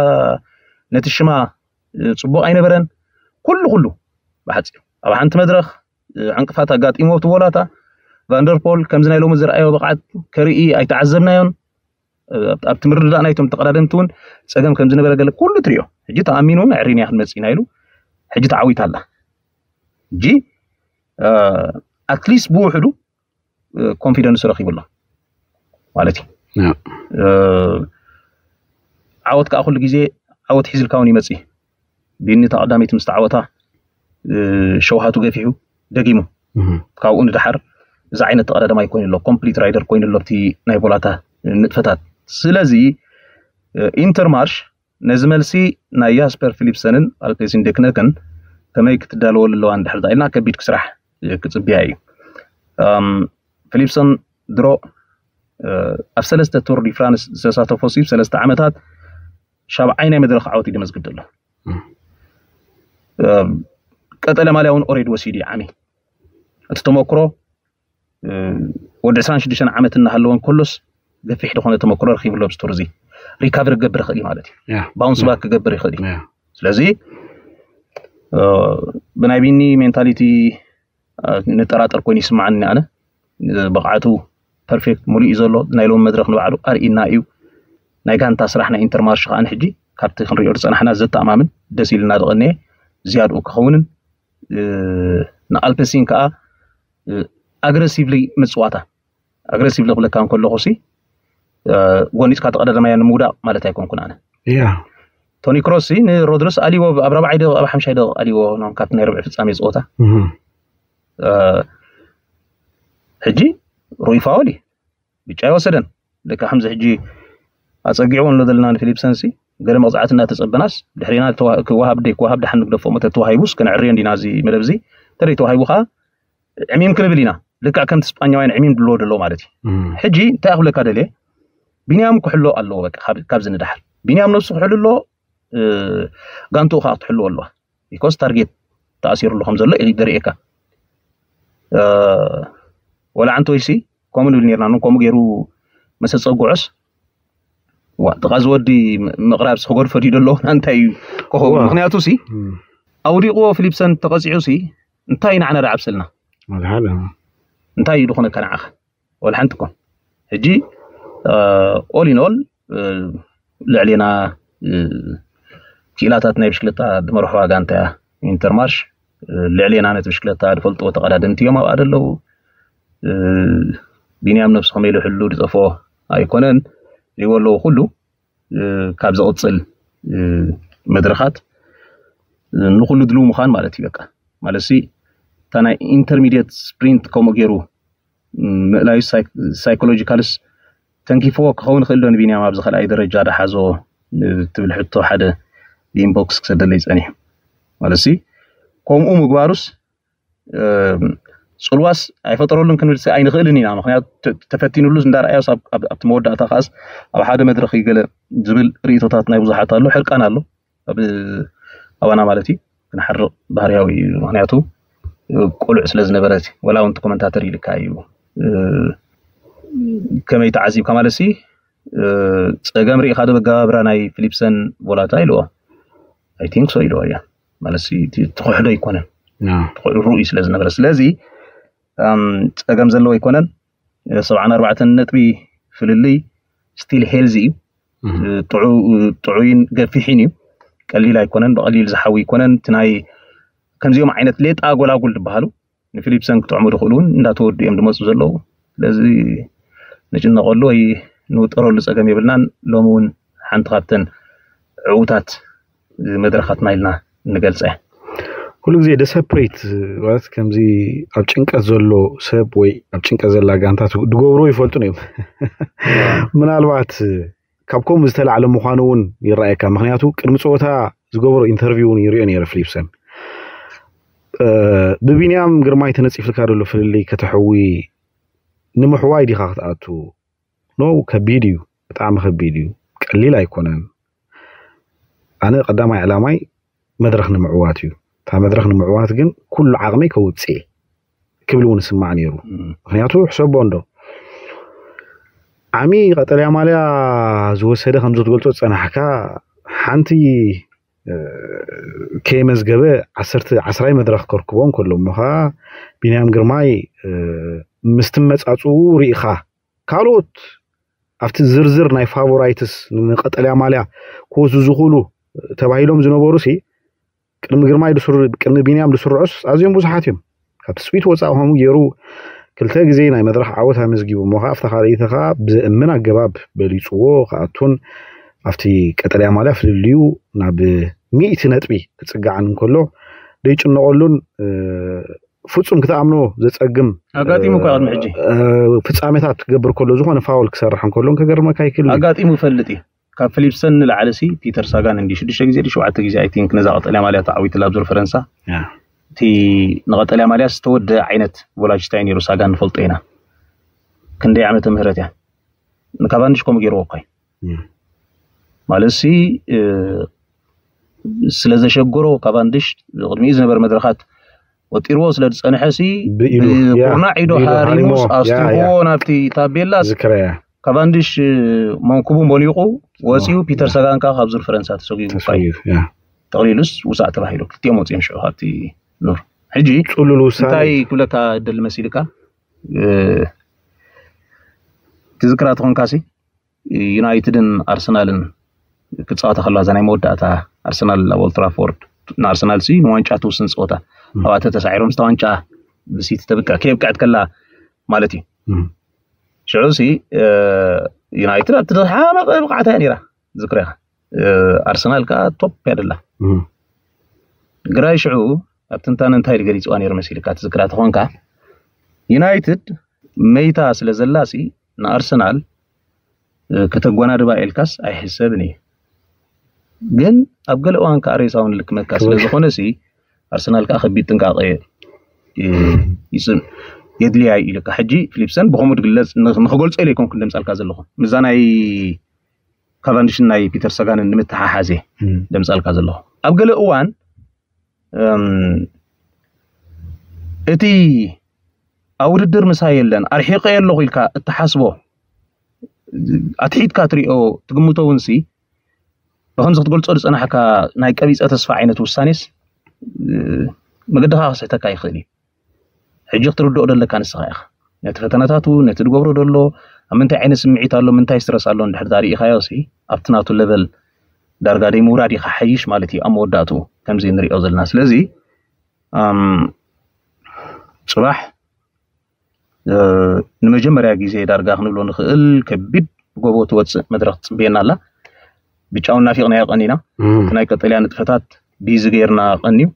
ነቲ ሽማ፣ እ፣ ጽቡቕ ኣይነበረን። ኩሉ ኩሉ ብሓጺሩ ኣብ ሓንቲ መድረኽ፣ እ፣ ዕንቅፋት ኣጋጢሞ እቲ ቮላታ። ቫንደርፖል ከምዚ ናይ ሎሚ ዝረኣዮ ብቕዓት ከርኢ ኣይተዓዘብናዮን። እ፣ ኣብ፣ ኣብቲ ምርድዳእ ናይቶም ተቐዳደምቲ እውን ጸገም ከም ዝነበረ ገለ ኩሉ ትሪኦ። ሕጂ ተኣሚኑ እውን ኣዕሪንያ ክንመጽእ ኢና ኢሉ ሕጂ ተዓዊታ ኣላ። ሕጂ፣ እ፣ ኣትሊስት ብውሕዱ፣ እ፣ ኮንፊደንስ ረኺቡ ኣሎ ማለት እዩ። ያ። እ፣ ዓወት ከዓ ኩሉ ግዜ ዓወት ሒዝልካ እውን ይመጽእ። ቢኒ እታ ቀዳመይቲ ምስ ተዓወታ፣ እ፣ ሸውሃቱ ገፊሑ ደጊሙ። እህ። ካብኡ ንደሓር እዚ ዓይነት ተቐዳዳማይ ኮይኑ ኣሎ፣ ኮምፕሊት ራይደር ኮይኑ ኣሎ ኣብቲ ናይ ቮላታ ንጥፈታት። ስለዚ ኢንተርማርሽ ነዚ መልሲ ናይ ያስፐር ፊሊፕሰንን ኣልፔሲን ዴክነክን ከመይ ክትዳለወሉ ኣለዋ እንድሕር ኢልና ከቢድ ክስራሕ ክፅብያ እዩ። ፊሊፕሰን ድሮ ኣብ ሰለስተ ቱር ዲ ፍራንስ ዝተሳተፎ ሲ ሰለስተ ዓመታት ሻብዓይ ናይ መድረክ ዓወት እዩ ደመዝግብ ዘሎ። ቀጠለ ማልያ እውን ኦሬድ ወሲዱ እዩ ዓሚ እቲ ተመክሮ ወዲ ዕስራን ሽዱሽተን ዓመት እናሃለወን ከሎስ ገፊሕ ዝኾነ ተመክሮ ረኪብሎ ብስቱር እዚ ሪካቨር ክገብር ይኽእል እዩ ማለት እዩ። ባውንስ ባክ ክገብር ይኽእል እዩ። ስለዚ ብናይ ቢኒ ሜንታሊቲ ንጠራጠር ኮይኑ ይስማዓኒ ኣነ። ብቕዓቱ ፐርፌክት ሙሉእ እዩ ዘሎ። ናይ ሎም መድረክ ንባዕሉ ኣርኢና እዩ። ናይ ጋንታ ስራሕ ናይ ኢንተርማርሽ ከኣ ሕጂ ካብቲ ክንሪኦ ዝፀናሕና ዘተኣማምን ደስ ኢልና ዝቐነየ ዝያድኡ ክኸውንን ንኣልፔሲን ከዓ ኣግረሲቭሊ ምፅዋታ ኣግረሲቭሊ ክብለካ እንከለኹ ሲ ጎኒፅካ ተቐዳዳማያ ንምውዳቕ ማለት ኣይኮንኩን ኣነ። ቶኒ ክሮስ ሲ ንሮድረስ ኣልዎ ኣብ ራብዓይ ደቂቕ ኣብ ሓምሻይ ደቂቕ ኣልዎ ኖም ካብቲ ናይ ርብዒ ፍጻሜ ፀወታ ሕጂ ሩይ ፋውል እዩ ብጫ ይወሰደን ልካ ከምዚ ሕጂ ኣፀጊዕዎ ንሎ ዘለና ንፊሊፕሰን ሲ ገለ መቕፃዕቲ እናተፀበናስ ድሕሪና ክወሃብ ደይ ክወሃብ ደሓን ንግደፎ እሞ ተተዋሂቡስ ከነዕርዮ እንዲና እዚ መደብ እዚ ተደይ ተዋሂቡ ከዓ ዕሚም ክንብል ኢና ልክዕ ከምቲ ስጳኛውያን ዕሚም ድልዎ ደለዎ ማለት እዩ። ሕጂ እንታይ ክብለካ ደልየ ቢንያም ክሕሎ ኣለዎ በቃ ካብዚ ንዳሓር ቢንያም ነብሱ ክሕሉ ኣለዎ። ጋንትኡ ከዓ ክትሕልዎ ኣለዋ ቢኮዝ ታርጌት ተኣሲሩ ኣሎ ከም ዘሎ እዩ ደርእየካ። ወላ ዓንተ ወይሲ ከምኡ ንብል ነርና ን ከምኡ ገይሩ መሰፀግዖስ ዋ ጥቓ ዝወዲ ምቕራብ ክገድፎ ድዩ ደሎ እንታይ እዩ ክኸውን ምክንያቱ ሲ ኣውዲቕዎ ፊሊፕሰን ተቐፂዑ ሲ እንታይ ኢና ዓነ ዳዓብሰልና እንታይ እዩ ዝኾነካ ንዓኻ ወላ ሓንቲ ኮን ሕጂ ኦል ኢን ኦል ልዕሌና ክኢላታት ናይ ብሽክለታ ድመርሖ ዋጋ እንታይ ኢንተርማርሽ ልዕሌና ነቲ ብሽክለታ ዝፈልጥዎ ተቐዳደምቲ እዮም ኣብኣ ዘለዉ። ቢንያም ነብሱ ከመይ ኢሉ ሕሉ ዝጠፍኦ ኣይኮነን ዝዎ ኣለዉ ኩሉ ካብ ዘቕፅል መድረኻት ንኩሉ ድልው ምዃን ማለት እዩ በቃ ማለት ሲ እታ ናይ ኢንተርሚድየት ስፕሪንት ከምኡ ገይሩ ምእላዩ ሳይኮሎጂካልስ ተንኪፍዎ ክኸውን ይኽእል ዶ ንቢንያም ኣብዚ ካልኣይ ደረጃ ዳሓዞ ትብል ሕቶ ሓደ ብኢንቦክስ ክሰደለይ ፀኒሑ ማለት ሲ ከምኡ ምግባሩስ ፅልዋስ ኣይፈጠረሉን ክንብል ኣይንኽእልን ኢና ምክንያቱ ተፈቲኑሉስ እንዳረኣዮስ ኣብቲ መወዳእታ ከዓስ ኣብ ሓደ መድረክ ይገለ ዝብል ርእቶታት ናይ ብዙሓት ኣሎ ሕርቃን ኣሎ ኣብ ኣባና ማለት እዩ ክንሓርቕ ባህርያዊ እዩ ምክንያቱ ቆልዕ ስለ ዝነበረ ወላ እውን ኮመንታተር ኢልካ እዩ ከመይ ተዓዚብካ ማለት ሲ ፀገም ርኢኻ ዶ በጋባብራ ናይ ፊሊፕሰን ቮላታ ኢልዎ ኣይ ቲንክ ሶ ኢልዎ እያ ማለት ትኽሕዶ ኣይኮነን ርኡይ ስለ ዝነበረ ስለዚ ፀገም ዘለዎ ኣይኮነን ሰብዓን ኣርባዕተን ነጥቢ ፍልልይ ስቲል ሄልዚ እዩ ጥዑይን ገፊሕን እዩ ቀሊል ኣይኮነን ብቐሊል ዝሓዊ ኣይኮነን እቲ ናይ ከምዚኦም ዓይነት ሌጣ ጎላጉል ዝበሃሉ ንፊሊፕሰን ክጥዕሙ ዝኽእሉ እውን እንዳተወዱ እዮም ዝመፁ ዘለዉ ስለዚ ንጭነቐሉ ወይ ንውጠረሉ ፀገም የብልናን ሎሚ እውን ሓንቲ ካብተን ዕዉታት መድረኻትና ኢልና ንገልፀ ኩሉ ግዜ ደሰፕሬት ማለት ከምዚ ኣብ ጭንቀት ዘሎ ሰብ ወይ ኣብ ጭንቀት ዘላ ጋንታት ድገብርዎ ይፈልጡን እዮም ምናልባት ካብ ከምኡ ዝተላዕለ ምዃኑ እውን ይረኣየካ ምክንያቱ ቅድሚ ፀወታ ዝገብሮ ኢንተርቪው እውን ይሪኦ ነይረ ፍሊፕሰን ብቢንያም ግርማይ ተነፂፍልካ ዘሎ ፍልልይ ከተሕዊ ንምሕዋይ ዲኻ ክትኣቱ ኖ ከቢድ እዩ ብጣዕሚ ከቢድ እዩ ቀሊል ኣይኮነን ኣነ ቀዳማይ ዕላማይ መድረኽ ንምዕዋት እዩ እታ መድረኽ ንምዕዋት ግን ኩሉ ዓቕመይ ከውፅእ ክብል እውን ስማዕ ነይሩ ምክንያቱ ሕሰቦ እንዶ ዓሚ ቀጠልያ ማልያ ዝወሰደ ከም ዝትገልጾ ዝጸናሕካ ሓንቲ ከየመዝገበ ዓሰርተ ዓስራይ መድረኽ ከርክቦ እንከሎ እሞ ኸዓ ቢንያም ግርማይ ምስ ትመጻጽኡ ርኢኻ ካልኦት ኣብቲ ዝርዝር ናይ ፋቮራይትስ ንቀጠልያ ማልያ ክወስዱ ዝኽእሉ ተባሂሎም ዝነበሩ ሲ ቅድሚ ግርማይ ቅድሚ ቢንያም ዝስርዑስ ኣዝዮም ብዙሓት እዮም። ካብ ትጽቢት ወጻኢ ከምኡ ገይሩ ክልተ ግዜ ናይ መድረኽ ዓወት ኣመዝጊቡ እሞ ከኣ ኣብታ ካልኣይቲ ከኣ ብዘእምን ኣገባብ በሊጽዎ ክኣቱን ኣብቲ ቀጠልያ ማልያ ፍልልዩ ናብ ሚእቲ ነጥቢ ክጽጋዕን እንከሎ ዘይጭነቐሉን ፍጹም ክትኣምኖ ዘጸግም ኣጋጢሙ እኮ ቅድሚ ሕጂ ፍጻሜታት ክገብር ከሎ፣ ዝኾነ ፋውል ክሰርሕ እንከሎ ከገርመካ ይክእል። ኣጋጢሙ ይፈልጥ እዩ። ካብ ፊሊፕሰን ንላዕሊ ሲ ፒተር ሳጋን እንዲ ሽዱሽተ ግዜ ዲ ሸውዓተ ግዜ ኣይ ቲንክ ነዛ ቀጠልያ ማልያ ተዓዊትላ ኣብ ዙር ፈረንሳ። እቲ ንቀጠልያ ማልያ ዝተወደ ዓይነት ቮላጅታይ ነይሩ። ሳጋን ንፈልጦ ኢና። ክንደይ ዓመተ ምህረት እያ። ንካቫንድሽ ከምኡ ገይርዎ እኳ እዩ። ማለት ሲ ስለ ዘሸገሮ ካቫንድሽ ቅድሚኡ ዝነበረ መድረኻት ወጢርዎ ስለ ዝጸንሐ ሲ ብኢዱ፣ ያ፣ ብኩርናዕ ኢዶ ብኢዱ ሃሪሙስ ሃሪሞ፣ ያ፣ ኣስቲኽዎ ያ። ናብቲ ታቤላ ዝክረያ ካቫንድሽ መንኩቡ ሞኒቑ ወፂኡ። ፒተር ሰጋን ከዓ ካብ ዙር ፈረንሳ ተሰጒጉ እኳ እዩ። ተሰጊሩ፣ ያ። ጠቕሊሉስ ውፃእ ተባሂሉ ክልቲኦም ወፂኦም ሽዑ ካብቲ ኑር። ሕጂ ጽሉል ውሳኔ። እንታይ ክብለካ ደሊ መሲልካ? እ፣ ትዝክራ ተኾንካሲ ዩናይትድን ኣርሰናልን ክፃወታ ከለዋ እዛ ናይ መወዳእታ ኣርሰናል ኣብ ኦልትራፎርድ ንኣርሰናል ሲ ንዋንጫ ትውስን ፀወታ ኣብኣተ ተሳዒሮም ስታ ዋንጫ ብሲቲ ተብቅዕ ከየብቅዐት ከላ ማለት እዩ። እም። ሽዑ ሲ እ፣ ዩናይትድ ኣብቲ ዝሓመቐ ብቕዓታ እያ ነይራ ዝክረኻ። እ፣ ኣርሰናል ከዓ ቶፕ እያ ደላ። እም። ግራይ ሽዑ ኣብ ትንታነ እንታይ ኢሉ ገሊፅዋ ነይሩ መሲልካ ትዝክራ ተኾንካ? ዩናይትድ መይታ ስለ ዘላ ሲ ንኣርሰናል እ፣ ከተጓናድባ ኢልካስ ኣይሕሰብን እዩ። ግን ኣብ ገለ እዋን ከዓ ሬሳውን ልክመካ ስለ ዝኾነ ሲ ኣርሰናል ከዓ ከቢድ ጥንቃቄ እ፣ ይጽን የድልያ እዩ ኢልካ። ሕጂ ፊሊፕሰን ብኸምኡ ድግለጽ ን- ንክገልጾ ኢለ ይኮንኩ ደምጻልካ ዘለኹ ምዛ ናይ ካቫንድሽን ናይ ፒተር ሰጋንን ንምትሓሓዜ እም። ደምጻልካ ዘለኹ ኣብ ገለ እዋን እም፣ እቲ ኣብ ውድድር ምሳይ የለን ኣርሒቀ ኣለኹ ኢልካ እትሓስቦ ኣትሒትካ ትሪኦ ትግምቶ እውን ሲ ብከምዚ ክትገልጾ ዝጸናሕካ ናይ ቀቢጸ ተስፋ ዓይነት ውሳኔስ እ፣ መገድኻ ክስሕተካ ይኽእል እዩ። ሕጂ ክትርድኦ ደለካ ንስኻ ኢኻ ነቲ ፈተነታቱ ነቲ ዝገብሮ ደሎ ኣብ ምንታይ ዓይነት ስምዒት ኣሎ ምንታይ ስትረስ ኣሎ እንድሕር ዳርኢኻዮ ሲ ኣብቲ ናቱ ለቨል ዳርጋ ደይ ምውራድ ኢኻ ሓይሽ ማለት እዩ ኣብ መወዳእትኡ ከምዚ ንሪኦ ዘለና። ስለዚ ኣም፣ ጽባሕ እ፣ ንመጀመርያ ግዜ ዳርጋ ክንብሎ ንኽእል ከቢድ ብጎቦ ትወፅእ መድረኽ ትፅበየና ኣላ። ብጫውን ናፊቕናዮ ቀኒና እም። እቲ ናይ ቀጠልያ ንጥፈታት ቢዚ ገይርና ቀንዩ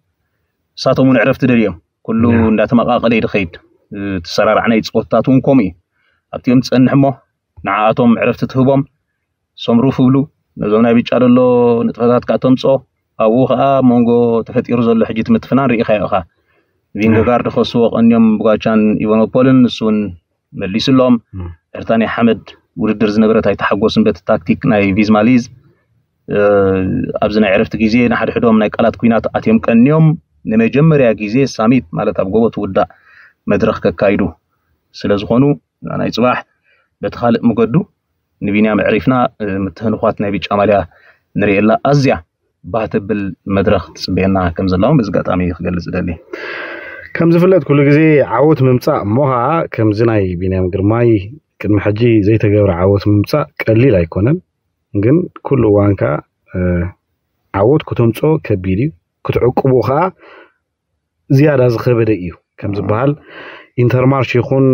ንሳቶም እውን ዕረፍቲ ደልዮም ኩሉ ያ። እንዳተመቃቀለ እዩ ድኸይድ። እ፣ ትሰራራዕ ናይ ፀወትታት እውን ከምኡ እዩ ኣብቲኦም ትፀንሕ እሞ ንዓኣቶም ዕረፍቲ ትህቦም ሶምሩፍ ብሉ ነዞም ናይ ብጫ ደሎ ንጥፈታት ከዓ ተምፅኦ ኣብኡ ከዓ መንጎ ተፈጢሩ ዘሎ ሕጂ ትምትፍናን ርኢኻዮ ኢኻ። ቪንገጋርድ ከስዎ ቀንዮም ብጓቻን ኢቫኖፖልን ንሱ እውን መሊስሎም እም። ዕርታን ሓመድ ውድድር ዝነበረት ኣይተሓጎስን በቲ ታክቲክ ናይ ቪዝማሊዝ እ፣ ኣብዚ ናይ ዕረፍቲ ግዜ ንሓድሕዶም ናይ ቃላት ኩናት ኣትዮም ቀንዮም ንመጀመርያ ግዜ ሳሚት ማለት ኣብ ጎቦ ትውዳእ መድረኽ ከካይዱ ስለ ዝኾኑ ናይ ፅባሕ በቲ ካልእ መገዱ ንቢንያም ዕሪፍና እ፣ ምትህንኳት ናይ ብጫ ማልያ ንርእየላ ኣዝያ ባህ ተብል መድረኽ ትፅበየና ከም ዘላ እውን በዚ ኣጋጣሚ ክገልፅ ደሊ። ከም ዝፍለጥ ኩሉ ግዜ ዓወት ምምፃእ እሞ ኸዓ ከምዚ ናይ ቢንያም ግርማይ ቅድሚ ሕጂ ዘይተገብረ ዓወት ምምፃእ ቀሊል ኣይኮነን። ግን ኩሉ እዋን ከዓ እ፣ ዓወት ክተምፅኦ ከቢድ እዩ፣ ክትዕቅቦ ከዓ ዝያዳ ዝኸበደ እዩ ከም ዝበሃል ኢንተርማርሽ ይኹን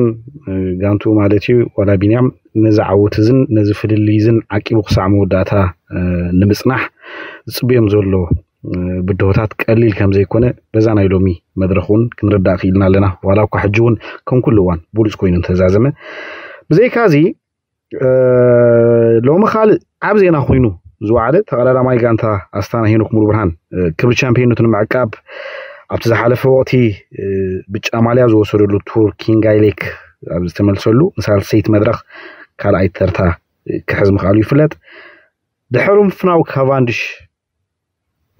እ፣ ጋንቱ ማለት እዩ ዋላ ቢንያም ነዚ ዓወት እዝን ነዚ ፍልልይ እዝን ዓቂቡ ክሳዕ መወዳእታ እ፣ ንምፅናሕ ዝፅብዮም ዘሎ እ፣ ብድሆታት ቀሊል ከም ዘይኮነ በዛ ናይ ሎሚ መድረኽ እውን ክንርዳእ ክኢልና ኣለና። ዋላ እኳ ሕጂ እውን ከም ኩሉ እዋን ብሉፅ ኮይኑ እንተዛዘመ ብዘይካዚ እ፣ ሎሚ ካልእ ዓብ ዜና ኮይኑ ዝወዓለ ተቐዳዳማይ ጋንታ ኣስታና ሄኖክ ሙሉብርሃን እ፣ ክብሪ ቻምፒዮንነቱ ንምዕቃብ ኣብቲ ዝሓለፈ ወቕቲ እ፣ ብጫ ማልያ ዝወሰደሉ ቱር ኪንጋይ ሌክ ኣብ ዝተመልሰሉ ንሳልሰይቲ መድረኽ ካልኣይ ተርታ እ፣ ክሕዝ ምኽኣሉ ይፍለጥ። ድሕሪ ምፍናው ካቫንድሽ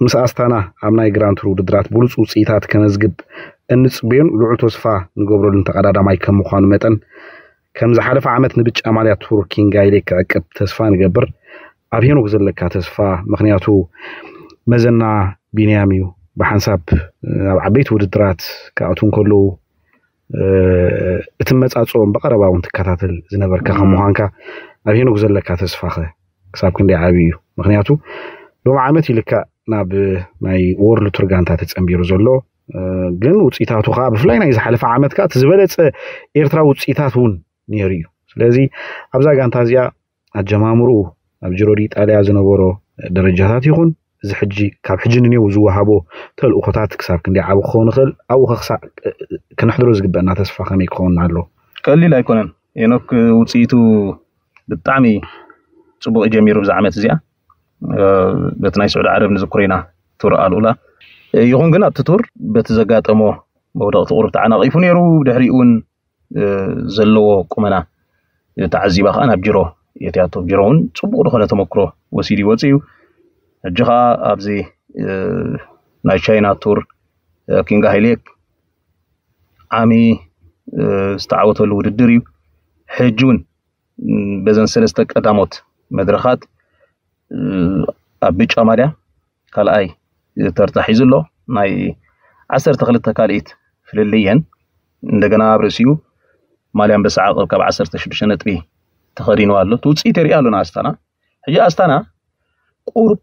ምስ ኣስታና ኣብ ናይ ግራንድ ቱር ውድድራት ብሉፅ ውፅኢታት ከመዝግብ እንፅበዮን ልዑል ተስፋ ንገብረሉን ተቐዳዳማይ ከም ምዃኑ መጠን ከም ዝሓለፈ ዓመት ንብጫ ማልያ ቱር ኪንጋይ ሌክ ክዕቅብ ተስፋ ንገብር። ኣብ ሄኖክ ዘለካ ተስፋ ምኽንያቱ መዘና ቢንያም እዩ። ብሓንሳብ ኣብ ዓበይቲ ውድድራት ክኣቱ እንከለዉ እ፣ እቲ መጻጽኦም ብቐረባ እውን ትከታተል ዝነበርካ ከም ምዃንካ ኣብ ሄኖክ ዘለካ ተስፋኸ ክሳብ ክንደይ ዓብዪ እዩ? ምኽንያቱ ሎም ዓመት ይልካእ ናብ ናይ ወርልድ ቱር ጋንታ ተጸንቢሩ ዘሎ እ፣ ግን ውፅኢታቱ ከዓ ብፍላይ ናይ ዝሓለፈ ዓመት ከዓ እቲ ዝበለፀ ኤርትራዊ ውፅኢታት እውን ነይሩ እዩ። ስለዚ ኣብዛ ጋንታ እዚኣ ኣጀማምርኡ ኣብ ጅሮ ዲ ኢጣልያ ዝነበሮ ደረጃታት ይኹን እዚ ሕጂ ካብ ሕጂ ንኔው ዝወሃቦ ተልእኾታት ክሳብ ክንደይ ዓቢ ክኸውን ይኽእል? ኣብኡ ከ ክሳዕ ክነሕድሮ ዝግበአና ተስፋ ከመይ ክኸውን ኣሎ? ቀሊል ኣይኮነን። ሄኖክ ውፅኢቱ ብጣዕሚ ፅቡቅ ጀሚሩ ብዛ ዓመት እዚኣ። በቲ ናይ ስዑዲ ዓረብ ንዝክሮ ኢና ቱር ኣልኡላ። ይኹን ግን ኣብቲ ቱር በቲ ዘጋጠሞ መውደቕቲ ቁሩብ ተዓናቒፉ ነይሩ። ድሕሪኡ እውን ዘለዎ ቁመና ተዓዚባ ከዓ ናብ ጅሮ የትያቶ። ጅሮ እውን ፅቡቅ ዝኾነ ተመክሮ ወሲዱ ይወፅእ እዩ። ሕጂ ከዓ ኣብዚ ናይ ቻይና ቱር ኪንግ ሃይሌክ ዓሚ ዝተዓወተሉ ውድድር እዩ። ሕጂ እውን በዘን ሰለስተ ቀዳሞት መድረኻት ኣብ ብጫ ማልያ ካልኣይ ተርታ ሒዙ ኣሎ። ናይ ዓሰርተ ክልተ ካልኢት ፍልልየን እንደገና ኣብ ርእሲኡ ማልያ ኣንበሳ ዓቐብ ካብ ዓሰርተ ሽዱሽተ ነጥቢ ተኸዲኑ ኣሎ። እቲ ውፅኢት የርኢ ኣሎ ንኣስታና። ሕጂ ኣስታና ቁሩብ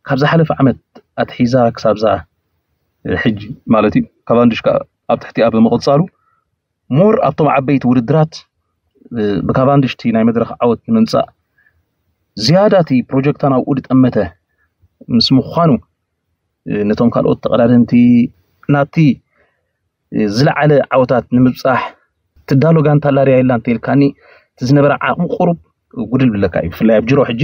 ካብ ዝሓለፈ ዓመት ኣትሒዛ ክሳብዛ ሕጂ ማለት እዩ ካቫንድሽ ከዓ ኣብ ትሕቲኣ ብምቕፃሉ ሞር ኣብቶም ዓበይቲ ውድድራት ብካቫንድሽ እቲ ናይ መድረኽ ዓወት ንምምፃእ ዝያዳ እቲ ፕሮጀክታ ናብኡ ዝጠመተ ምስ ምዃኑ ነቶም ካልኦት ተቐዳደምቲ ናብቲ ዝለዓለ ዓወታት ንምብፃሕ ትዳሎ ጋንታ ኣላርያ የላ እንተኢልካኒ እቲ ዝነበረ ዓቕሚ ቁሩብ ጉድል ብለካ እዩ። ብፍላይ ኣብ ጅሮ ሕጂ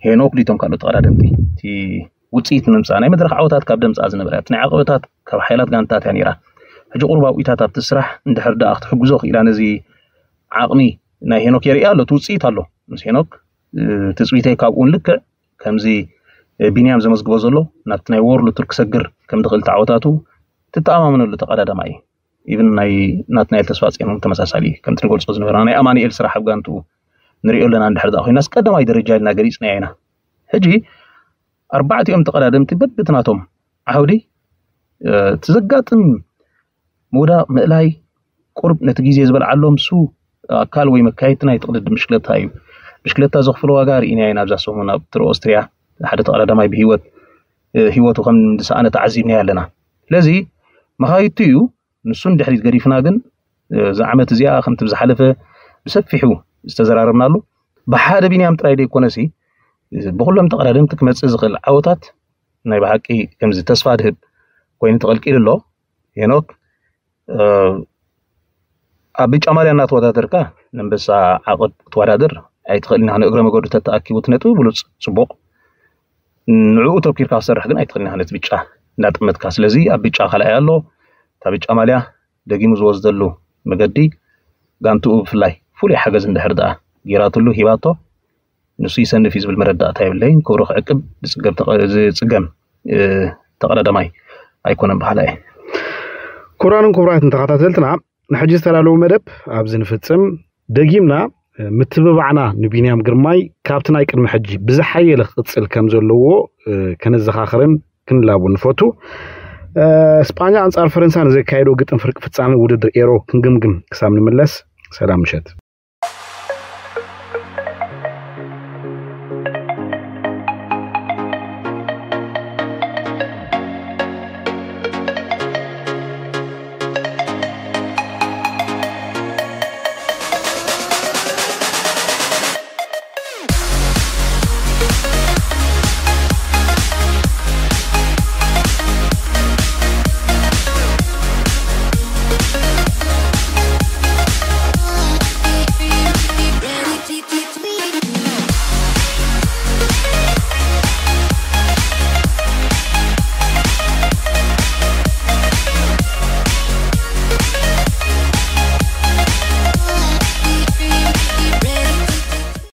ሄኖክ ዲቶም ካልኦት ተቐዳደምቲ እቲ ውፅኢት ንምምፃእ ናይ መድረኽ ዓወታት ካብ ደምፃ ዝነበረ እቲ ናይ ዓቐበታት ካብ ሓይላት ጋንታት እያ ነይራ። ሕጂ ቁሩብ ኣብኢታት ኣብቲ ስራሕ እንድሕር ደኣ ክትሕግዞ ክኢላ ነዚ ዓቕሚ ናይ ሄኖክ የርእያ ኣሎ። እቲ ውፅኢት ኣሎ ምስ ሄኖክ ትፅቢተይ ካብኡን ልክዕ ከምዚ ቢንያም ዘመዝግቦ ዘሎ ናብቲ ናይ ወርሉ ቱር ክሰግር ከም ዝኽእል ተዓወታቱ ትተኣማመነሉ ተቐዳዳማይ እዩ። ኢብን ናይ ናትናኤል ተስፋ ፅዮን እውን ተመሳሳሊ እዩ። ከምቲ ንገልፆ ዝነበርና ናይ ኣማኑኤል ስራሕ ኣብ ጋንትኡ ንሪኦ ኣለና። እንድሕር ደኣ ኮይናስ ቀዳማይ ደረጃ ኢልና ገሊፅናዮ ኢና። ሕጂ ኣርባዕቲኦም ተቐዳደምቲ በብትናቶም ዓውዲ እቲ ዘጋጥም ምውዳቕ ምእላይ ቁርብ ነቲ ግዜ ዝበልዓሎም ሱ ኣካል ወይ መካየድቲ ናይ ትቕድድም ብሽክለታ እዩ። ብሽክለታ ዘኽፍሎ ዋጋ ርኢናዮ ኢና። ኣብዛ ሰሙን ኣብ ቱር ኦስትሪያ ሓደ ተቐዳዳማይ ብሂወት ህይወቱ ከም ዝሰኣነ ተዓዚብናዮ ኣለና። ስለዚ መኻይድቱ እዩ ንሱ ንድሕሪት ገዲፍና ግን እዛ ዓመት እዚኣ ከምቲ ብዝሓለፈ ብሰፊሑ ዝተዘራረብናሉ ብሓደ ቢንያም ጥራይ ዘይኮነሲ ብኩሎም ተቐዳደምቲ ክመፅእ ዝኽእል ዓወታት ናይ ብሓቂ ከምዚ ተስፋ ድህብ ኮይኑ ተቐልቂሉ ኣሎ። ሄኖክ ኣብ ብጫ ማልያ እናተወዳደርካ ንኣንበሳ ዓቐብ ክትወዳደር ኣይትኽእልን ኢኻ። ንእግረ መገዱ ተተኣኪቡ እቲ ነጥቢ ብሉፅ ፅቡቕ ንዕኡ ተኪርካ ክሰርሕ ግን ኣይትኽእልን ኢኻ ነቲ ብጫ እንዳጠመትካ። ስለዚ ኣብ ብጫ ካልኣይ ኣሎ። እታ ብጫ ማልያ ደጊሙ ዝወስደሉ መገዲ ጋንትኡ ብፍላይ ፍሉይ ሓገዝ እንድሕር ደኣ ጌራትሉ ሂባቶ ንሱ ይሰንፍ እዩ ዝብል መረዳእታ የብለይን። ክብሩ ክዕቅብ ዝፅገም ተቐዳዳማይ ኣይኮነን በሃላይ። ክቡራንን ክቡራትን ተኸታተልትና ንሕጂ ዝተዳለወ መደብ ኣብዚ ንፍፅም። ደጊምና ምትብባዕና ንቢንያም ግርማይ ካብቲ ናይ ቅድሚ ሕጂ ብዝሓየለ ክቕፅል ከም ዘለዎ ከነዘኻኽርን ክንላቦ ንፈቱ። ስጳኛ ኣንጻር ፈረንሳ ንዘካየዶ ግጥም ፍርቂ ፍጻሜ ውድድር ኤሮ ክንግምግም ክሳብ ንምለስ ሰላም ምሸት።